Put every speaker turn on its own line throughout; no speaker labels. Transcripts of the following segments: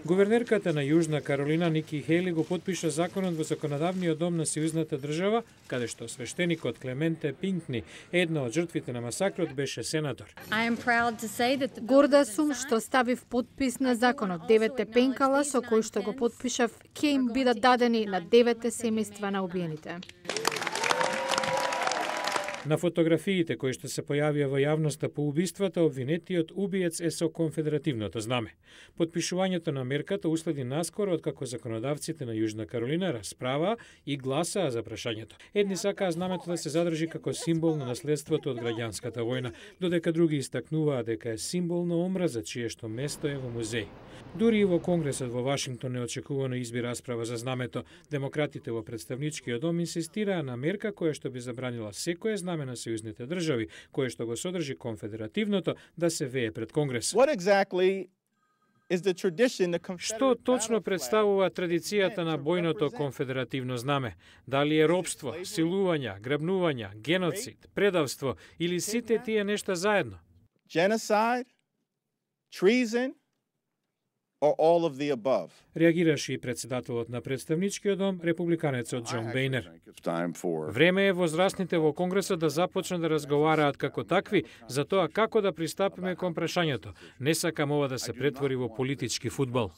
Гувернерката на Јужна Каролина Ники Хели го потпиша законот во законодавниот дом на Сојузната држава, каде што свештеникот Клементе Пинкни, една од жртвите на масакрот, беше сенатор.
Горда сум што ставив потпис на законот. 9 пенкала со кои што го потпишав ќе им бидат дадени на 9 семејства на убиените.
На фотографиите кои што се појавија во јавноста по убиствата, обвинетиот убиец е со конфедеративното знаме. Потпишувањето на мерката уследи наскоро откако законодавците на Јужна Каролина расправаа и гласаа за прашањето. Едни сакаа знамето да се задржи како символ на наследството од граѓанската војна, додека други истакнуваа дека е символ на омраза, чие што место е во музеј. Дури и во Конгресот во Вашингтон неочекувано изби расправа за знамето. Демократите во представничкиот дом инсистираа на мерка која што би забранила секое знаме на Сојузните држави, кое што го содржи конфедеративното, да се вее пред Конгрес. Што точно представува традицијата на бојното конфедеративно знаме? Дали е робство, силувања, грабнувања, геноцид, предавство или сите тие нешта заедно?
Genocide, treason, or all of the above.
Реагираше и председателот на представничкиот дом, републиканецот Џон Бејнер. Време е возрастните во Конгресот да започнат да разговараат како такви за тоа како да пристапиме кон прашањето. Не сакам ова да се претвори во политички фудбал.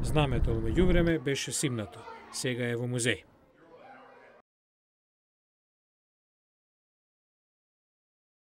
Знамето во меѓувреме беше симнато. Сега е во музеј.